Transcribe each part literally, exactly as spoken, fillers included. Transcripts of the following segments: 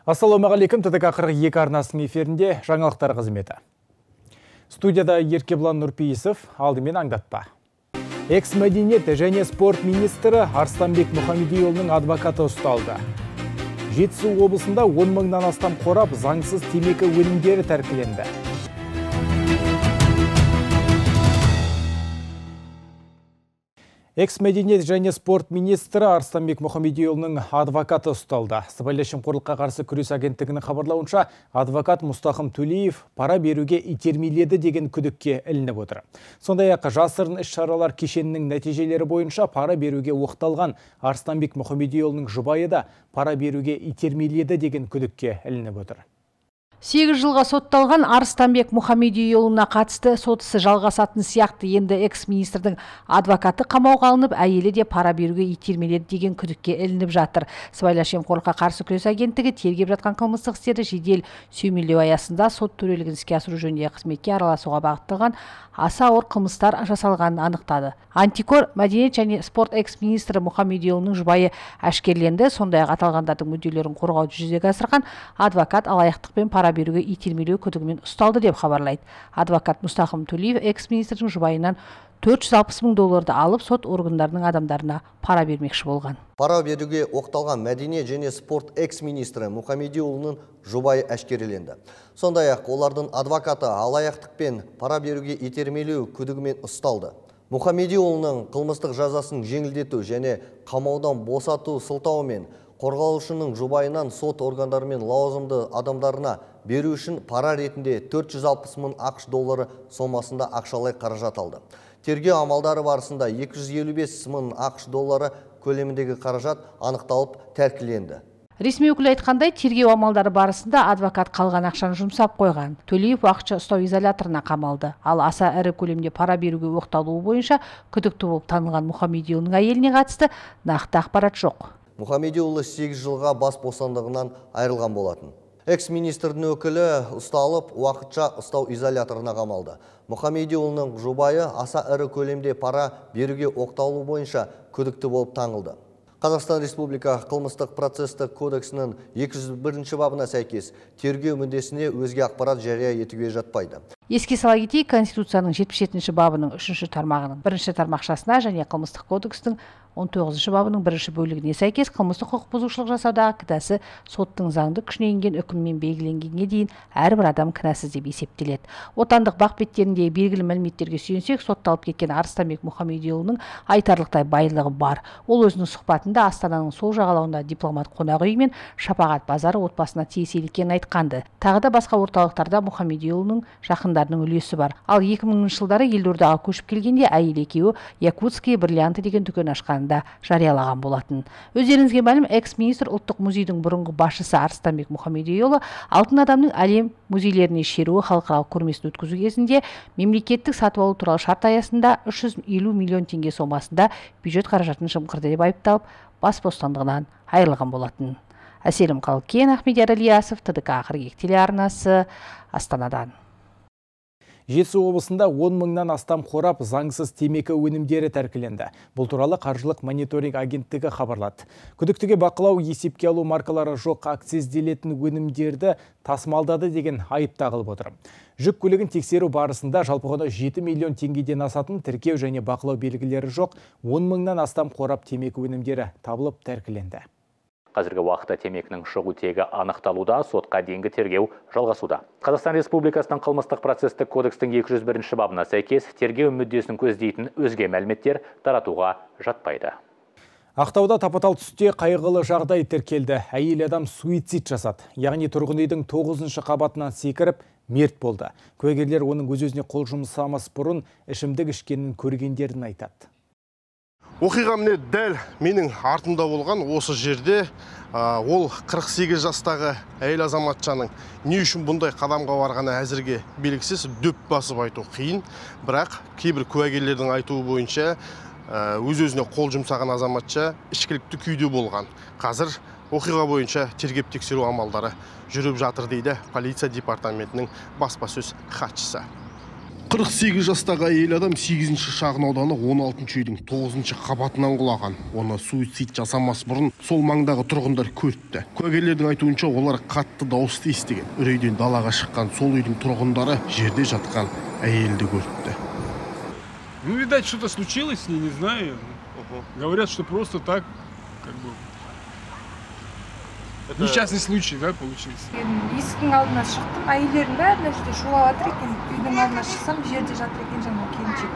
Ассалаумағалейкум, ТДК қырық екі арнасының эфирінде жаңалықтар қызметі. Студияда Еркебұлан Нұрпейісов, алдымен аңдатпа. Экс-мәдениет және спорт министрі Арыстанбек Мұхамедиұлының адвокаты ұсталды. Жетісу облысында он мыңнан астам қорап заңсыз темекі өнімдері тәркіленді. Экс-мәдениет және спорт министрі Арыстанбек Мұхамедиұлының адвокаты ұсталды. Сыбайлас жемқорлыққа қарсы күрес агенттігінің хабарлауынша, адвокат Мұстахым Төлеев пара беруге итермеледі деген күдікке ілініп отыр. Сондай-ақ жасырын іс-шаралар кешенінің нәтижелері бойынша пара беруге оқталған Арыстанбек Мұхамедиұлының жұбайы да пара беруге итермеледі деген күдікке ілініп отыр. сегіз жылға сотталған Арыстанбек Мұхамедиұлына қатысты сотысы жалғасатын сияқты енді экс-министрдің адвокаты қамауға алынып, әйелі де пара беруге итермеледі деген күдікке ілініп жатыр. Сыбайлас жемқорлыққа қарсы күрес агенттігі тергеп жатқан қылмыстық істерді жедел сүйемелдеу аясында сот төрелігін іске асыру жөніндегі қызметке араласуға бағытталған аса ауыр қылмыстар жасалғанын анықтады. Антикор мәдениет және спорт экс-министрі Мұхамедиұлының жұбайы әшкерленді. Сондай-ақ аталғандардың мүдделерін қорғауды жүзеге асырған адвокат алаяқтықпен пара беруге итермелеу күдігімен ұсталды деп хабарлайды. Адвокат Мұстахым Төлеев экс-министрдің жұбайынан төрт жүз алпыс мың долларды алып, сот органдарының адамдарына пара бермекші болған. Пара беруге оқталған мәдениет және спорт экс-министрі Мұхамедиұлының жұбайы әшкереленді. Сондай-ақ олардың адвокаты алаяқтықпен пара беруге итермелеу күдігімен ұсталды. Мұхамедиұлының қылмыстық жазасын жеңілдету және қамаудан босату сылтауымен қорғалушының жұбайынан сот органдары мен лауазымды адамдарына беру үшін пара ретінде төрт жүз алпыс мың ақш доллары сомасында ақшалай қаражат алды. Тергеу амалдары барысында екі жүз елу бес мың ақш доллары көлеміндегі қаражат анықталып тәркіленді. Ресми өкілі айтқандай, тергеу амалдары барысында адвокат қалған ақшаны жұмсап қойған. Төлеев уақытша ұстау изоляторына қамалды. Ал аса ірі көлемде пара беруге оқталуы бойынша күдікті болып танылған Мұхамедиұлының әйеліне қатысты нақты ақпарат жоқ. Мұхамедиұлы сегіз жылға бас бостандығынан айырылған болатын. Экс-министрдің өкілі ұсталып, уақытша ұстау изоляторына қамалды. Мұхамедиұлының жұбайы аса ірі көлемде пара беруге оқталу бойынша күдікті болып танылды. Қазақстан Республика қылмыстық процестік кодексінің екі жүз бірінші бабына сәйкес тергеу мүддесіне өзге ақпарат жария етуге жатпайды. Еске сала кетейік, Конституцияның жетпіс жетінші бабының үшінші тармағының бірінші тармақшасына және қылмыстық кодекстің он тоғызыншы бабының бірінші бөлігіне сәйкес қылмыстық құқық бұзушылық жасаудағы кінәсі соттың заңды күшіне енген үкіммен белгіленгенге дейін әрбір адам кінәсіз деп есептеледі. Отандық бақ беттеріндегі белгілі мәліметтерге сүйенсек, сотталып кеткен Арыстанбек Мұхамедиұлының айтарлықтай байлығы бар. Ол өзінің сұхбатында Астананың сол жағалауында дипломат қонақ үйі мен Шапағат базары отбасына тиесілі екенін айтқанды. Тағы да басқа орталықтарда Мұхамедиұлының жақындарының үлесі бар. Ал екі мыңыншы жылдары елордаға көшіп келгенде әйел екеуі Якутские бриллианты деген дүкен ашқан да жариялаған болатын. Өздеріңізге мәлім, экс-министр ұлттық музейдің бұрынғы басшысы Арыстанбек Мұхамедиұлы алтын адамның әлем музейлеріне шеруі халықаралық көрмесін өткізу кезінде мемлекеттік сатып алу туралы шарт аясында үш жүз елу миллион теңге сомасында бюджет қаражатын жымқырды деп айыпталып, бас бостандығынан айырылған болатын. Әселім Қалкен, Ахмедияр Ильясов, ТДК қырық екі телеарнасы, Астанадан. Жетісу облысында он мыңнан астам қорап заңсыз темекі өнімдері тәркіленді. Бұл туралы қаржылық мониторинг агенттігі хабарлады. Күдіктіге бақылау, есепке алу маркалары жоқ акцизделетін өнімдерді тасымалдады деген айып тағылып отыр. Жүк көлігін тексеру барысында жалпы құны жеті миллион теңгеден асатын тіркеу және бақылау белгілері жоқ он мыңнан астам қорап темекі өнімдері табылып тәркіленді. Қазіргі уақытта темекінің шығу тегі анықталуда, сотқа дейінгі тергеу жалғасуда. Қазақстан Республикасының қылмыстық процестік кодекстің екі жүз бірінші бабына сәйкес тергеу мүддесін көздейтін өзге мәліметтер таратуға жатпайды. Ақтауда тапатал түсте қайғылы жағдай тіркелді. Әйел адам суицид жасады. Яғни тұрғын үйдің тоғызыншы қабатынан секіріп, мерт болды. Куәгерлер оның өз-өзіне қол жұмсамас бұрын ішімдік ішкенін көргендерін айтады. Оқиға міне дәл менің артымда болған осы жерде. Ол қырық сегіз жастағы әйел азаматшаның не үшін бұндай қадамға барғаны әзірге белгісіз, дөп басып айту қиын. Бірақ кейбір куәгерлердің айтуы бойынша өз-өзіне қол жұмсаған азаматша ішкілікті күйде болған. Қазір оқиға бойынша тергеп тексеру амалдары жүріп жатыр дейді полиция департаментінің баспасөз хатшысы. қырық сегіз жастағы әйел адам сегізінші шағын ауданы он алтыншы үйдің тоғызыншы қабатынан құлаған. Оны суицид жасамас бұрын сол маңдағы тұрғындар көріпті. Куәгерлердің айтуынша олар қатты дауысты естіген. Үрейден далаға шыққан сол үйдің тұрғындары жерде жатқан әйелді көріпті. Ну, видать, что-то случилось с ней, не знаю. Говорят, что просто так, как бы, это... несчастный случай, да, получился. Есіктің алдына шықтым, әйелдердің бәрі жерде шулап жатыр екен. Үйдің алдына шықсам, жерде жатыр екен жаңа келіншек.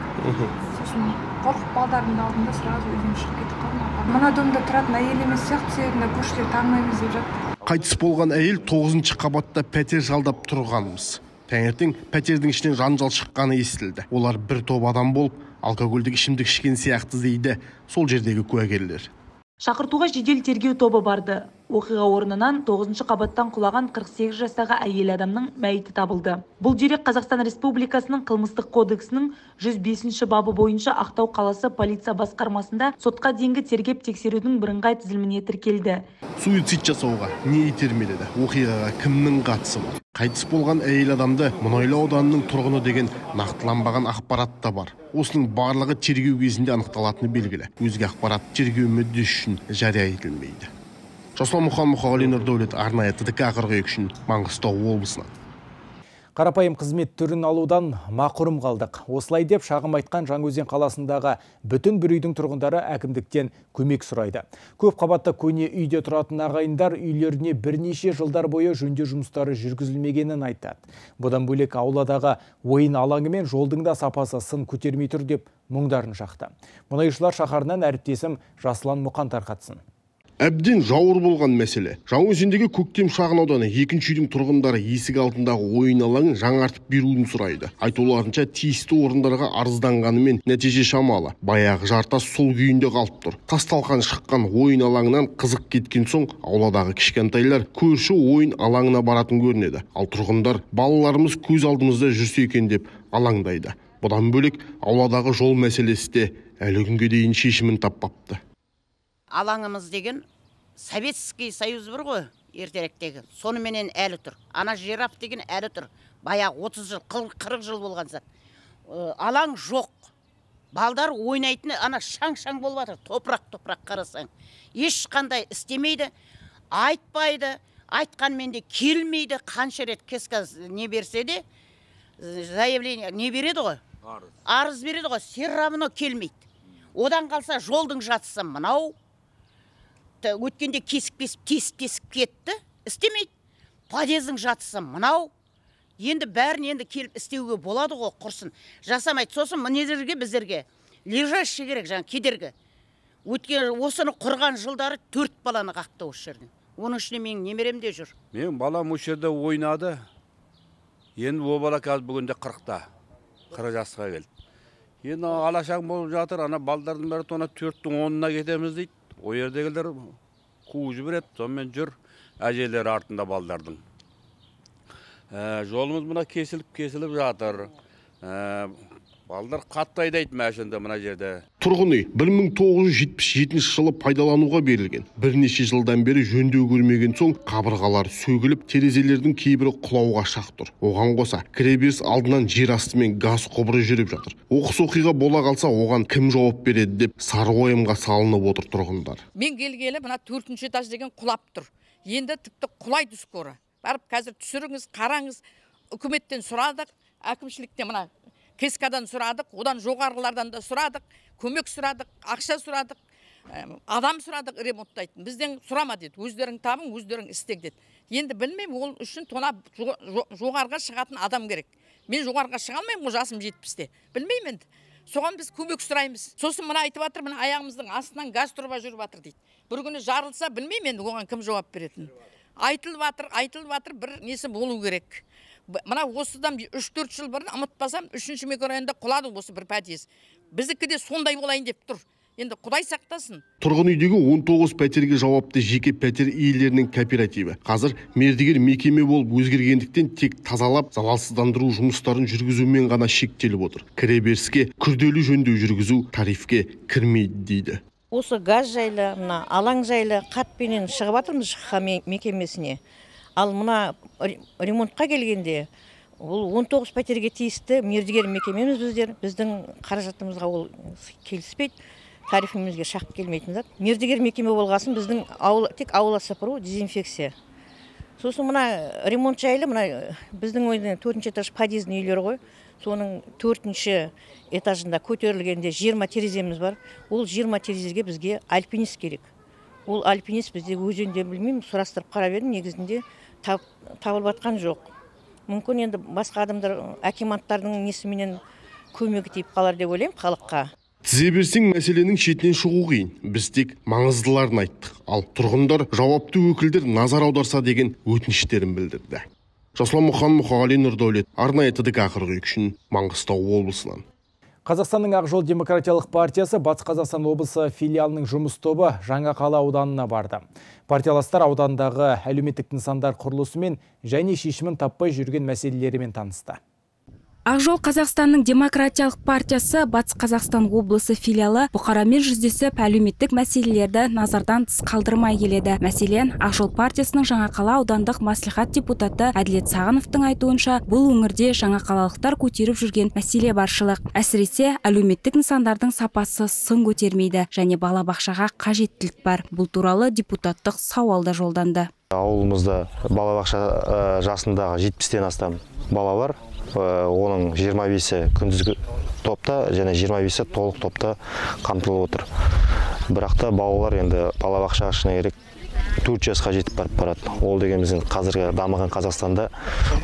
Сосын қорқып балдардың алдында сразу үйден шығып кетіп қалдым. Мына домда тұратын әйел емес сияқты, себебінде көршілер танымаймыз деп жатты. Қайтыс болған әйел тоғызыншы қабатта пәтер жалдап тұрғанымыз. Таңертең пәтердің ішінен жанжал шыққаны естілді. Олар бір топ адам болып, алкогольдік ішімдік ішкен сияқты дейді сол жердегі куәгерлер. Шақыртуға жедел тергеу тобы барды. Оқиға орнынан тоғызыншы қабаттан құлаған қырық сегіз жастағы әйел адамның мәйіті табылды. Бұл дерек Қазақстан Республикасының қылмыстық кодексінің жүз бесінші бабы бойынша Ақтау қаласы полиция басқармасында сотқа дейінгі тергеп тексерудің бірыңғай тізіліміне тіркелді. Суицид жасауға не итермеледі? Оқиғаға кімнің қатысы бар? Қайтыс болған әйел адамды Мұнайлы ауданының тұрғыны деген нақтыланбаған ақпарат та бар. Осының барлығы тергеу кезінде анықталатыны белгілі. Өзге ақпарат тергеу мүддесі үшін жария етілмейді. Жасұлан Мұқан Мұқағали Нұрдәулет, арнайы Т Д К қырық екі үшін Маңғыстау облысынан. Қарапайым қызмет түрін алудан мақұрым қалдық. Осылай деп шағым айтқан Жаңаөзен қаласындағы бүтін бір үйдің тұрғындары әкімдіктен көмек сұрайды. Көп қабатты көне үйде тұратын ағайындар үйлеріне бірнеше жылдар бойы жөндеу жұмыстары жүргізілмегенін айтады. Бұдан бөлек ауладағы ойын алаңы мен жолдың да сапасы сын көтермей тұр деп мұңдарын шақты. Мұнайшылар шаһарынан әріптесім Жасұлан Мұқан тарқатсын. Әбден жауыр болған мәселе. Жаңаөзендегі Көктем шағын ауданы екінші үйдің тұрғындары есік алдындағы ойын алаңын жаңартып беруін сұрайды. Айтуларынша тиісті орындарға арызданғанымен нәтиже шамалы. Баяғы жартас сол күйінде қалып тұр. Тасталқан шыққан ойын алаңынан қызық кеткен соң ауладағы кішкентайлар көрші ойын алаңына баратын көрінеді. Ал тұрғындар балаларымыз көз алдымызда жүрсе екен деп алаңдайды. Бұдан бөлек ауладағы жол мәселесі де әлі күнге дейін шешімін таппапты. Алаңымыз деген Советский Союз бір ғой, ертеректегі. Соныменен әлі тұр. Ана жираф деген әлі тұр. Баяғы отыз жыл, қырық жыл болған зат. Алаң жоқ. Балдар ойнайтыны ана шаң-шаң болып жатыр. Топырақ-топырақ қарасаң. Ешқандай істемейді, айтпайды, айтқанмен де келмейді. Қанша рет кесказ не берсе де, заявление не береді ғой? Арыз береді ғой, все равно келмейді. Одан қалса жолдың жатысы мынау. Өткенде кесіп-кесіп, тесіп-тесіп кетті, істемейді. Подъездің жатысы мынау. Енді бәрін енді келіп істеуге болады ғой, құрсын. Жасамайды. Сосын мінезерге біздерге лежащий керек, жаңа кедергі. Өткен осыны құрған жылдары төрт баланы қақты осы жерден. Оның ішіне менің немерем де жүр. Мен балам осы жерде ойнады. Енді о бала қазір бүгінде қырықта. қырық жасқа келді. Енді алашаң болып жатыр, ана балдардың бәрі тона төрттің онына кетеміз дейді. О ердегілер қуып жібереді, сонымен жүр әжелер артында балдардың. Жолымыз мына кесіліп-кесіліп жатыр. Балдар қатты айдайды мәшінде мына жерде. Тұрғын үй бір мың тоғыз жүз жетпіс жетінші жылы пайдалануға берілген. Бірнеше жылдан бері жөндеу көрмеген соң қабырғалар сөгіліп, терезелердің кейбірі құлауға шақ тұр. Оған қоса кіреберіс алдынан жер асты мен газ құбыры жүріп жатыр. Оқыс оқиға бола қалса, оған кім жауап береді деп сары уайымға салынып отыр тұрғындар. Мен келгелі мына төртінші этаж деген құлап тұр. Енді тіпті құлайды скоро. Барып қазір түсіріңіз, қараңыз. Үкіметтен сұрадық, әкімшіліктен мына кескадан сұрадық, одан жоғарғылардан да сұрадық, көмек сұрадық, ақша сұрадық, адам сұрадық ремонттайтын. Бізден сұрама деді, өздерің табың, өздерің істек деді. Енді білмеймін, ол үшін тона жоғарға шығатын адам керек. Мен жоғарға шыға алмаймын, ол жасым жетпісте. Білмеймін енді. Соған біз көмек сұраймыз. Сосын мына айтып жатыр, мына аяғымыздың астынан газ труба жүріп жатыр дейді. Бір күні жарылса, білмеймін енді, оған кім жауап беретін. Айтылып жатыр, айтылып жатыр, бір несі болу керек. Мына осыдан үш төрт жыл бұрын ұмытпасам, үшінші микрорайонда құлады осы бір подъезд. Біздікі де сондай болайын деп тұр. Енді Құдай сақтасын. Тұрғын үйдегі он тоғыз пәтерге жауапты жеке пәтер иелерінің кооперативі. Қазір мердігер мекеме болып өзгергендіктен тек тазалап, залалсыздандыру жұмыстарын жүргізумен ғана шектеліп отыр. Кіреберіске күрделі жөндеу жүргізу тарифке кірмейді дейді. Осы газ жайлы, мына алаң жайлы қатпенен шығып жатырмыз ЖХ мекемесіне. Ал мына ремонтқа келгенде Ол он тоғыз пәтерге тиісті мердігер мекемеміз біздер. Біздің қаражатымызға ол келіспейді. Тарифімізге шақып келмейтін зат. Мердігер мекеме болғасын біздің ауыл, тек аула сыпыру, дезинфекция. Сосын мына ремонт жайлы, мына біздің ойдың төртінші этаж подъездың үйлері ғой. Соның төртінші этажында көтерілгенде жиырма тереземіз бар. Ол жиырма терезеге бізге альпинист керек. Ол альпинист бізде өзенде білмеймін, сұрастырып қарап едім, негізінде табылып жатқан жоқ. Мүмкін енді басқа адамдар, акиматтардың несіменен көмегі тиіп қалар деп ойлаймын халыққа. Тізе берсең мәселенің шетінен шығу қиын. Біз тек маңыздыларын айттық. Ал тұрғындар жауапты өкілдер назар аударса деген өтініштерін білдірді. Жасұлан Мұқан, Мұқағали Нұрдәулет, арнайы ТДК қырық екі үшін Маңғыстау облысынан. Қазақстанның Ақ жол демократиялық партиясы Батыс Қазақстан облысы филиалының жұмыс тобы Жаңақала ауданына барды. Партияластар аудандағы әлеуметтік нысандар құрылысымен және шешімін таппай жүрген мәселелерімен танысты. Ақ жол Қазақстанның демократиялық партиясы Батыс Қазақстан облысы филиалы бұқарамен жүздесіп әлеуметтік мәселелерді назардан тыс қалдырмай келеді. Мәселен, Ақ жол партиясының Жаңақала аудандық маслихат депутаты Әділет Сағыновтың айтуынша, бұл өңірде жаңақалалықтар көтеріп жүрген мәселе баршылық. Әсіресе әлеуметтік нысандардың сапасы сын көтермейді және балабақшаға қажеттілік бар. Бұл туралы депутаттық сауалда жолданды. Ауылымызда балабақша жасындағы жетпістен астам бала бар. Оның жиырма бесі күндізгі топта және жиырма бесі толық топта қамтылып отыр. Бірақ та балалар енді балабақшаға шыны керек төрт жасқа жетіп барып барады. Ол дегеніміздің қазіргі дамыған Қазақстанда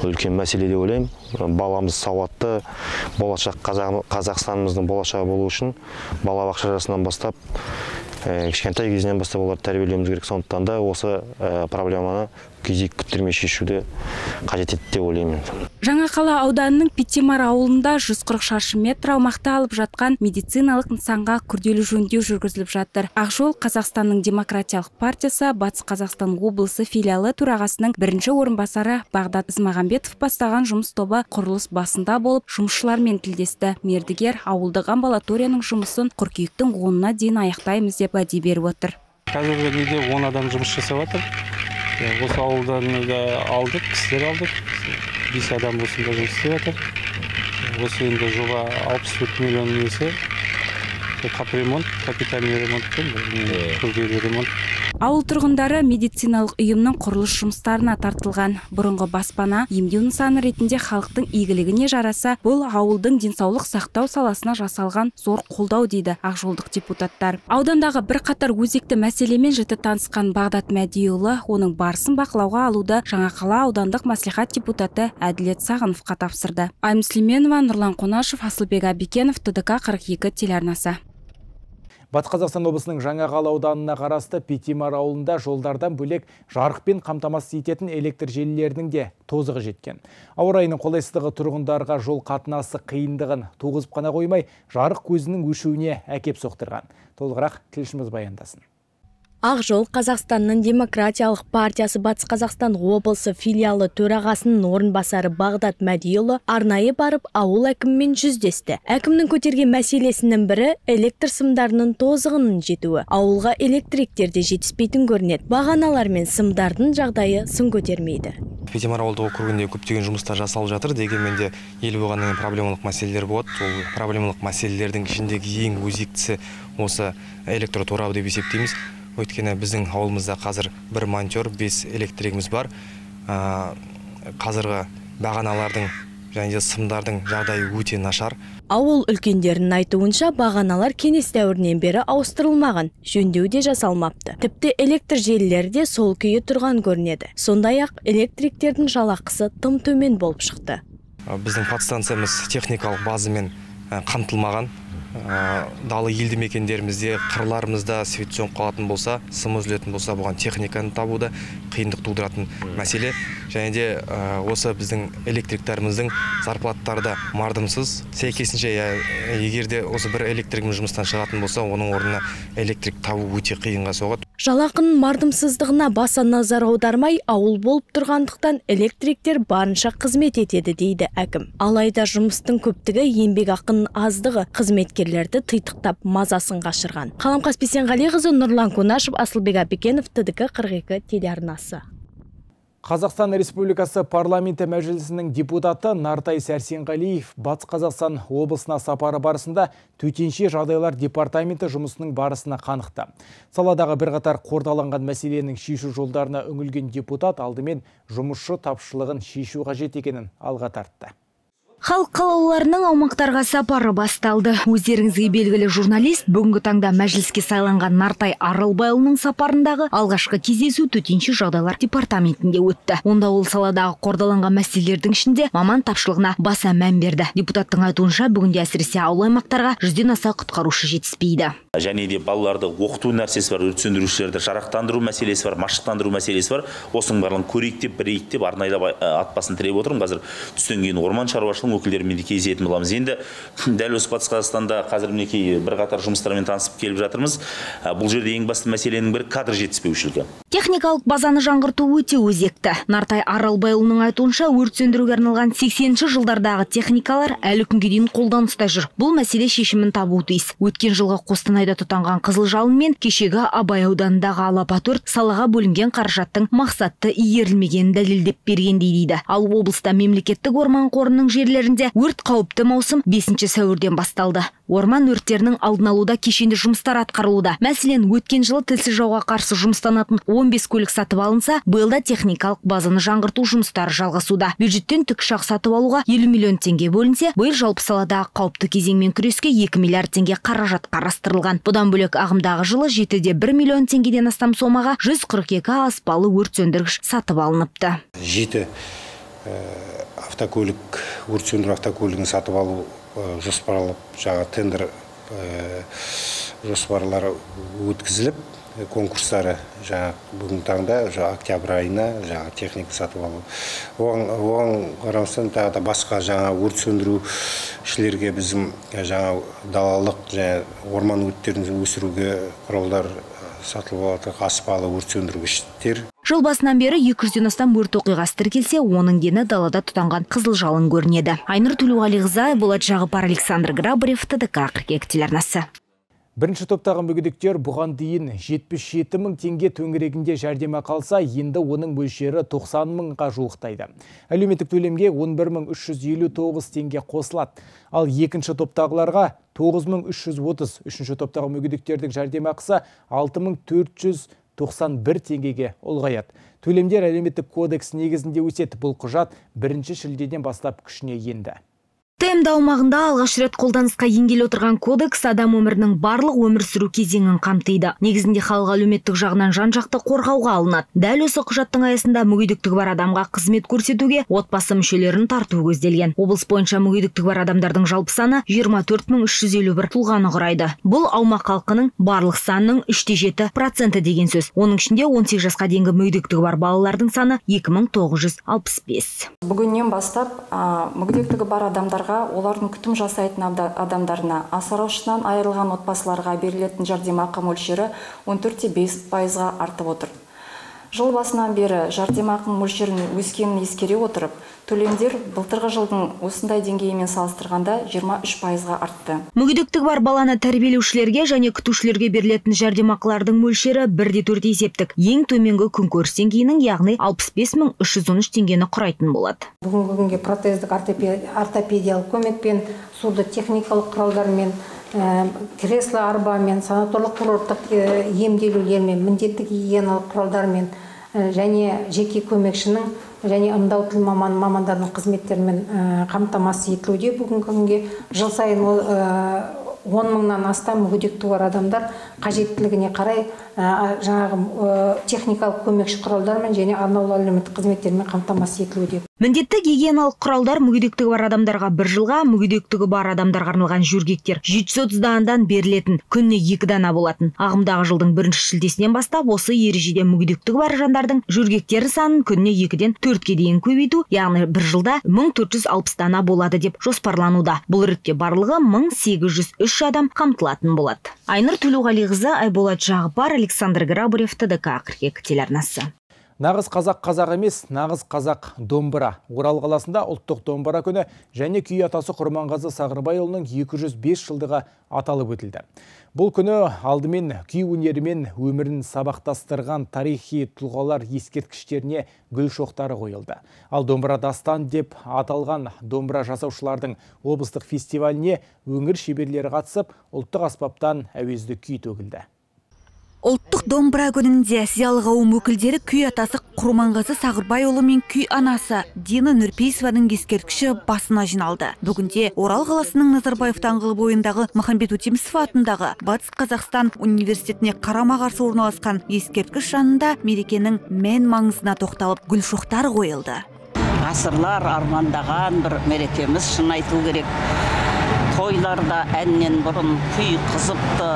үлкен мәселе деп ойлаймын. Баламыз сауатты, болашақ Қазақстанымыздың болашағы болу үшін балабақша жасынан бастап кішкентай кезінен бастап оларды тәрбиелеуіміз керек. Сондықтан да осы проблеманы кезек күттірмей шешуді қажет етті деп ойлаймын. Жаңақала ауданының Петимар ауылында жүз қырық шаршы метр аумақты алып жатқан медициналық нысанға күрделі жөндеу жүргізіліп жатыр. Ақ жол Қазақстанның демократиялық партиясы Батыс Қазақстан облысы филиалы төрағасының бірінші орынбасары Бағдат Ізмағамбетов бастаған жұмыс тобы құрылыс басында болып, жұмысшылармен тілдесті. Мердігер ауылдық амбулаторияның жұмысын қыркүйектің онына дейін аяқтаймыз деп уәде беріп отыр. Қазіргі кезде он адам жұмыс жасап жатыр. Осы ауылдан алдық, кісілер алдық. бес адам осында жұмыс істеп жатыр. Осы енді жоба алпыс төрт миллион несі. Капремонт, капитальный ремонт, күрделі ремонт. Ауыл тұрғындары медициналық ұйымның құрылыс жұмыстарына тартылған. Бұрынғы баспана емдеу нысаны ретінде халықтың игілігіне жараса, бұл ауылдың денсаулық сақтау саласына жасалған зор қолдау дейді ақжолдық депутаттар. Аудандағы бір қатар өзекті мәселемен жіті танысқан Бағдат Мәдиұлы оның барысын бақылауға алуды Жаңақала аудандық маслихат депутаты Әділет Сағыновқа тапсырды. Айым Сүлейменова, Нұрлан Қонашев, Асылбек Абикенов, ТДК қырық екі телеарнасы. Батыс Қазақстан облысының Жаңақала ауданына қарасты Петимар ауылында жолдардан бөлек жарықпен қамтамасыз ететін электр желілерінің де тозығы жеткен. Ауа райының қолайсыздығы тұрғындарға жол қатынасы қиындығын туғызып қана қоймай, жарық көзінің өшуіне әкеп соқтырған. Толығырақ тілшіміз баяндасын. Ақ жол Қазақстанның демократиялық партиясы Батыс Қазақстан облысы филиалы төрағасының орынбасары Бағдат Мәдиұлы арнайы барып ауыл әкімімен жүздесті. Әкімнің көтерген мәселесінің бірі электр сымдарының тозығының жетуі. Ауылға электріктер де жетіспейтін көрінеді. Бағаналар мен сымдардың жағдайы сын көтермейді. Петимар ауылдық округінде көптеген жұмыстар жасалып жатыр, дегенмен де ел болғаннан проблемалық мәселелер болады. Ол проблемалық мәселелердің ішіндегі ең өзектісі осы электр торабы деп есептейміз. Өйткені біздің ауылымызда қазір бір монтер, бес электригіміз бар. Қазіргі бағаналардың және де сымдардың жағдайы өте нашар. Ауыл үлкендерінің айтуынша бағаналар кеңес дәуірінен бері ауыстырылмаған, жөндеу де жасалмапты. Тіпті электр желілері де сол күйі тұрған көрінеді. Сондай-ақ электриктердің жалақысы тым төмен болып шықты. Біздің подстанциямыз техникалық базамен қамтылмаған. Далы елді мекендерімізде, қырларымызда свет сөніп қалатын болса, сым үзілетін болса, бұған техниканы табуды қиындық тудыратын мәселе. Және де осы біздің электриктарымыздың зарплаттары да мардымсыз. Сәйкесінше, егерде осы бір электригіміз жұмыстан шығатын болса, оның орнына электрик табу өте қиынға соғады. Жалақының мардымсыздығына баса назар аудармай, ауыл болып тұрғандықтан электриктер барынша қызмет етеді дейді әкім. Алайда жұмыстың көптігі, еңбек ақының аздығы қызметкерлерді тыйтықтап мазасын қашырған. Қаламқас Бейсенғалиқызы, Нұрлан Қонашев, Асылбек Абикенов, ТДК қырық екі телеарнасы. Қазақстан Республикасы парламенті мәжілісінің депутаты Нартай Сәрсенғалиев Батыс Қазақстан облысына сапары барысында төтенше жағдайлар департаменті жұмысының барысына қанықты. Саладағы бірқатар қордаланған мәселенің шешу жолдарына үңілген депутат алдымен жұмысшы тапшылығын шешу қажет екенін алға тартты. Халық қалаулыларының аумақтарға сапары басталды. Өздеріңізге белгілі журналист бүгінгі таңда мәжіліске сайланған Нартай Аралбайұлының сапарындағы алғашқы кездесу төтенше жағдайлар департаментінде өтті. Онда ол саладағы қордаланған мәселелердің ішінде маман тапшылығына баса мән берді. Депутаттың айтуынша бүгінде әсіресе ауыл аймақтарға жүзден аса құтқарушы жетіспейді. Және де балаларды оқыту нәрсесі бар, өрт сөндірушілерді жарақтандыру мәселесі бар, машықтандыру мәселесі бар. Осының барлығын көрейік деп, бірейік деп арнайда атпасын тіреп отырмын. Қазір түстен кейін орман шаруашылығы өкілдерімен де кездесетін боламыз. Енді дәл осы Батыс Қазақстанда қазір мінекей бірқатар жұмыстармен танысып келіп жатырмыз. Бұл жерде ең басты мәселенің бірі кадр жетіспеушілігі. Техникалық базаны жаңғырту өте өзекті. Нартай Аралбайұлының айтуынша, өрт сөндіруге арналған сексенінші жылдардағы техникалар әлі күнге дейін қолданыста жүр. Бұл мәселе шешімін табуы тиіс. Өткен жылғы Қостанайда тұтанған қызыл жалын мен кешегі Абай ауданындағы алапат өрт салаға бөлінген қаражаттың мақсатты игерілмегенін дәлелдеп бергендей дейді. Ал облыста мемлекеттік орман қорының жерлерінде өрт қауіпті маусым бесінші сәуірден басталды. Орман өрттерінің алдын алуда кешенді жұмыстар атқарылуда. Мәселен, өткен жылы тілсіз жауға қарсы жұмыстанатын он бес көлік сатып алынса, биылда техникалық базаны жаңғырту жұмыстары жалғасуда. Бюджеттен тікұшақ сатып алуға елу миллион теңге бөлінсе, биыл жалпы саладағы қауіпті кезеңмен күреске екі миллиард теңге қаражат қарастырылған. Бұдан бөлек ағымдағы жылы жеті де бір миллион теңгеден астам сомаға жүз қырық екі аспалы өрт сөндіргіш сатып алыныпты. жеті автокөлік, өрт сөндіру автокөлігін сатып алу жоспарлап, жаңа тендер жоспарлары өткізіліп, конкурстары жаңа бүгін таңда октябрь айына жаңа техника сатып алу. Оған қарамастан тағы да басқа жаңа өрт сөндірушілерге біздің жаңа далалық және орман өрттерін өсіруге құралдар сатылып алады, аспалы өрт сөндіргіштер. Жыл басынан бері екі жүзден астам өрт оқиғасы тіркелсе, оның дені далада тұтанған қызыл жалын көрінеді. Айнұр Төлеуғалиқызы, Болат Жағыпар, Александр Грабарев, Т Д К қырық екі телеарнасы. Бірінші топтағы мүгедектер бұған дейін жетпіс жеті мың теңге төңірегінде жәрдемақы алса, енді оның мөлшері тоқсан мыңға жуықтайды. Әлеуметтік төлемге он бір мың үш жүз елу тоғыз теңге қосылады. Ал екінші топтағыларға тоғыз мың үш жүз отыз, үшінші топтағы мүгедектердің жәрдемақысы алты мың төрт жүз тоқсан бір теңгеге ұлғаяды. Төлемдер әлеуметтік кодекс негізінде өседі. Бұл құжат бірінші шілдеден бастап күшіне енді. ТМД аумағында алғаш рет қолданысқа енгелі отырған кодекс адам өмірінің барлық өмір сүру кезеңін қамтиды. Негізінде халық әлеуметтік жағынан жан-жақты қорғауға алынады. Дәл осы құжаттың аясында мүгедектігі бар адамға қызмет көрсетуге отбасы мүшелерін тарту көзделген. Облыс бойынша мүгедектігі бар адамдардың жалпы саны жиырма төрт мың үш жүз елу бір тұлғаны құрайды. Бұл аумақ халқының барлық санының үш те жеті проценті деген сөз. Оның ішінде он сегіз жасқа дейінгі мүгедектігі бар балалардың саны екі мың тоғыз жүз алпыс бес. Бүгіннен бастап мүгедектігі бар адамдар олардың күтім жасайтын адамдарына, асыраушысынан айырылған отбасыларға берілетін жәрдемақы мөлшері он төрт те бес пайызға артып отыр. Жыл басынан бері жәрдемақының мөлшерінің өскенін ескере отырып, төлемдер былтырғы жылдың осындай деңгейімен салыстырғанда жиырма үш пайызға артты. Мүгедектігі бар баланы тәрбиелеушілерге және күтушілерге берілетін жәрдемақылардың мөлшері бір де төрт есептік. Ең төменгі күнкөріс деңгейінің, яғни алпыс бес мың үш жүз он үш теңгені құрайтын болады. Бүгінгі күнге протездік ортопедиялық көмекпен, суды техникалық құралдармен, кресло арбамен, санаторлық курорттық емделулермен, міндетті гигиеналық құралдармен және жеке көмекшінің және ымдау тіл мамандарының қызметтерімен қамтамасыз етілуде. Бүгінгі күнге жыл сайын он мыңнан астам мүгедектігі бар адамдар қажеттілігіне қарай жаңағы техникалық көмекші құралдармен және арнаулы әлеуметтік қызметтермен қамтамасыз етілуде. Міндетті гигиеналық құралдар мүгедектігі бар адамдарға бір жылға, мүгедектігі бар адамдарға арналған жөргектер жеті жүз отыз данадан берілетін, күніне екі дана болатын. Ағымдағы жылдың бірінші шілдесінен бастап осы ережеде мүгедектігі бар жандардың жөргектері санын күніне екіден төртке дейін көбейту, яғни бір жылда мың төрт жүз алпыс дана болады деп жоспарлануда. Бұл ретте барлығы мың сегіз жүз үш адам қамтылатын болады. Айнұр Төлеуғалиқызы, Болат Жағыпар, Александр Грабарев, Т Д К қырық екі телеарнасы. Нағыз қазақ қазақ емес, нағыз қазақ домбыра. Орал қаласында ұлттық домбыра күні және күй атасы Құрманғазы Сағырбайұлының екі жүз бес жылдығы аталып өтілді. Бұл күні алдымен күй өнерімен өмірін сабақтастырған тарихи тұлғалар ескерткіштеріне гүл шоқтары қойылды. Ал домбыра дастан деп аталған домбыра жасаушылардың облыстық фестиваліне өңір шеберлері қатысып, ұлттық аспаптан әуезді күй төгілді. Ұлттық домбыра күнінде зиялы қауым өкілдері күй атасы Құрманғазы Сағырбайұлы мен күй анасы Дина Нұрпейісованың ескерткіші басына жиналды. Бүгінде Орал қаласының Назарбаев даңғылы бойындағы Махамбет Өтемісов атындағы Батыс Қазақстан университетіне қарама-қарсы орналасқан ескерткіш жанында мерекенің мән маңызына тоқталып гүл шоқтары қойылды. Ғасырлар армандаған бір мерекеміз, шын айту керек. Тойларда әннен бұрын күй қызыпты,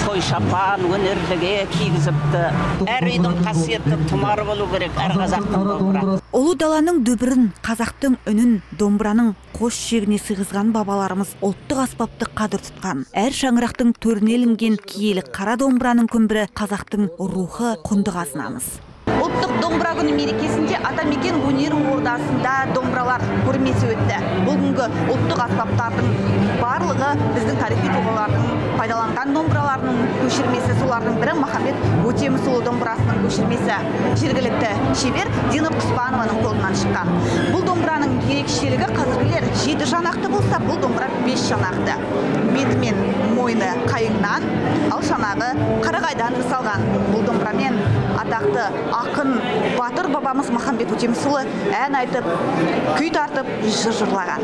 той шапан өнерліге кигізіпті. Әр үйдің қасиетті тұмары болу керек, әр қазақтың домбыра. Ұлы даланың дүбірін, қазақтың үнін, домбыраның қос шегіне сыйғызған бабаларымыз ұлттық аспапты қадір тұтқан. Әр шаңырақтың төріне ілінген киелі қара домбыраның күмбірі қазақтың рухы, құнды қазынамыз. Ұлттық домбыра күні мерекесінде Атамекен өнер ордасында домбыралар көрмесі өтті. Бүгінгі ұлттық аспаптардың барлығы біздің тарихи тұлғалардың пайдаланған домбыраларының көшірмесі. Солардың бірі Махамбет Өтемісұлы домбырасының көшірмесі. Жергілікті шебер Дина Құспанованың қолынан шыққан. Бұл домбыраның ерекшелігі қазіргілер жеті жанақты болса, бұл домбыра бес жанақты. Беті мен мойны қайыңнан, ал шанағы қарағайдан жасалған. Бұл домбырамен атақты ақын батыр бабамыз Махамбет Өтемісұлы ән айтып, күй тартып, жыр жырлаған.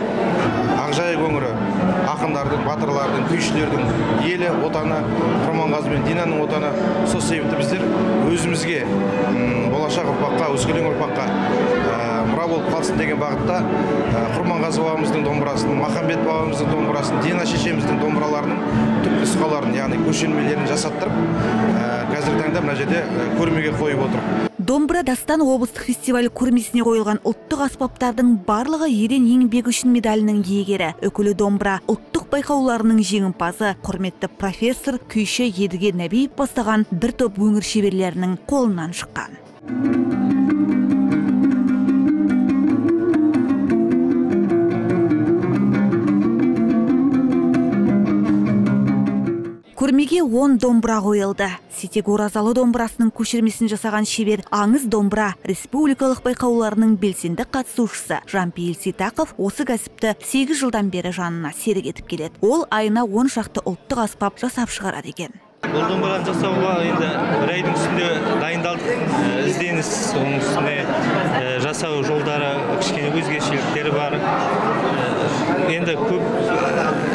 Ақжайық өңірі ақындардың, батырлардың, күйшілердің елі отаны, Құрманғазы мен Динаның отаны. Сол себепті біздер өзімізге болашақ ұрпаққа, өскелең ұрпаққа мұра болып қалсын деген бағытта Құрманғазы бабамыздың домбырасын, Махамбет бабамыздың домбырасын, Дина шешеміздің домбыраларының түп нұсқаларын, яғни көшірмелерін жасаттырып, қазіргі таңда мына жерде көрмеге қойып отыр. Домбыра дастан облыстық фестиваль көрмесіне қойылған ұлттық аспаптардың барлығы ерен еңбегі үшін медалінің иегері. Үкілі домбыра ұлттық байқауларының жеңімпазы, құрметті профессор күйші Едіге Нәбиев бастаған бір топ өңір шеберлерінің қолынан шыққан. Көрмеге он домбыра қойылды. Сетек Оразалы домбырасының көшірмесін жасаған шебер Аңыз домбыра республикалық байқауларының белсенді қатысушысы Жампейіл Сейтақов осы кәсіпті сегіз жылдан бері жанына серік етіп келеді. Ол айына он шақты ұлттық аспап жасап шығарады екен. Бұл домбыраны жасауға енді бір айдың үстінде дайындалдық, ізденіс, оның үстіне жасау жолдары кішкене өзгешеліктері бар. Енді көп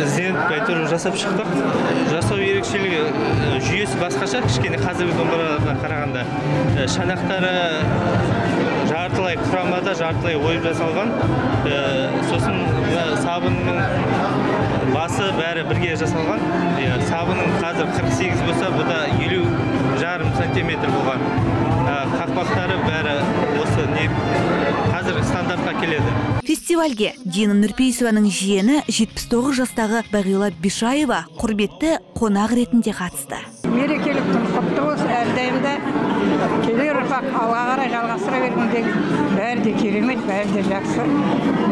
ізденіп әйтеуір жасап шықтық. Жасау ерекшелігі жүйесі басқаша, кішкене қазіргі домбыраға қарағанда. Шанақтары жартылай құрамада, жартылай ойып жасалған. Сосын сабынның басы бәрі бірге жасалған. Сабының қазір қырық сегіз болса, бұда елу жарым сантиметр болған. Қақпақтары бәрі осы не қазір стандартқа келеді. Фестивальге Дина Нұрпейісованың жиені жетпіс тоғыз жастағы Бағила Бишаева құрметті қонақ ретінде қатысты. Мерекелік күн құтты болсын, әрдайымда келер ұрпақ алға қарай жалғастыра бергенде бәрі де керемет, бәрі де жақсы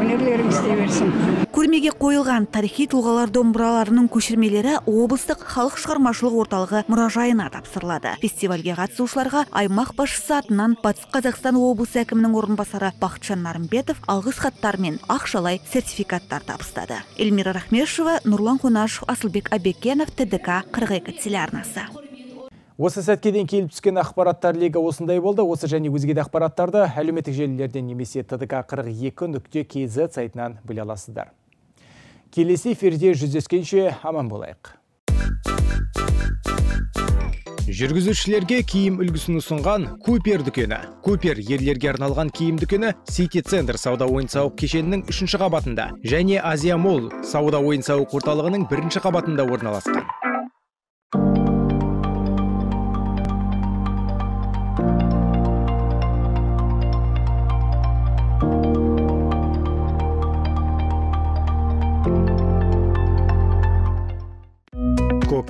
өнерлерін істей берсін. Көрмеге қойылған тарихи тұлғалар домбыраларының көшірмелері облыстық халық шығармашылық орталығы мұражайына тапсырылады. Фестивальге қатысушыларға аймақ басшысы атынан Батыс Қазақстан облысы әкімінің орынбасары Бақытжан Нарымбетов алғыс хаттар мен ақшалай сертификаттар табыстады. Эльмира Рахмешева, Нұрлан Қонашев, Асылбек Абекенов, Т Д К қырық екі телеарнасы. Осы сәткеден келіп түскен ақпараттар легі осындай болды. Осы және өзге де ақпараттарды әлеуметтік желілерден немесе Т Д К қырық екі нүкте К З сайтынан біле аласыздар. Келесі эфирде жүздескенше аман болайық. Жүргізушілерге киім үлгісін ұсынған Купер дүкені. Купер ерлерге арналған киім дүкені Сити Центр сауда ойын-сауық кешенінің үшінші қабатында және Азия Молл сауда ойын-сауық орталығының бірінші қабатында орналасқан.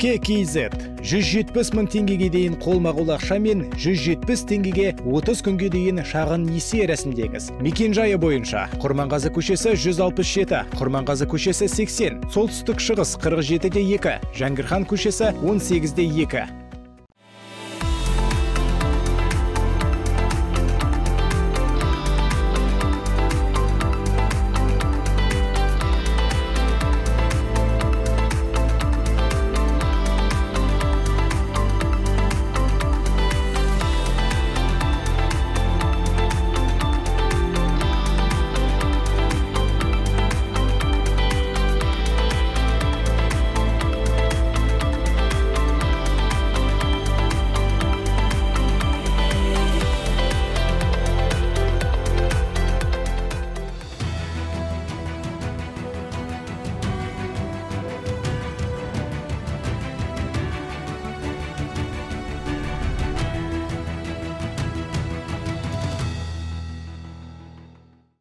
К К З жүз жетпіс мың теңгеге дейін қолма-қол ақша мен жүз жетпіс теңгеге отыз күнге дейін шағын несие рәсімдеңіз. Мекен-жайы бойынша Құрманғазы көшесі жүз алпыс жеті, Құрманғазы көшесі сексен, солтүстік шығыс қырық жеті де екі, Жәңгірхан көшесі он сегіз де екі.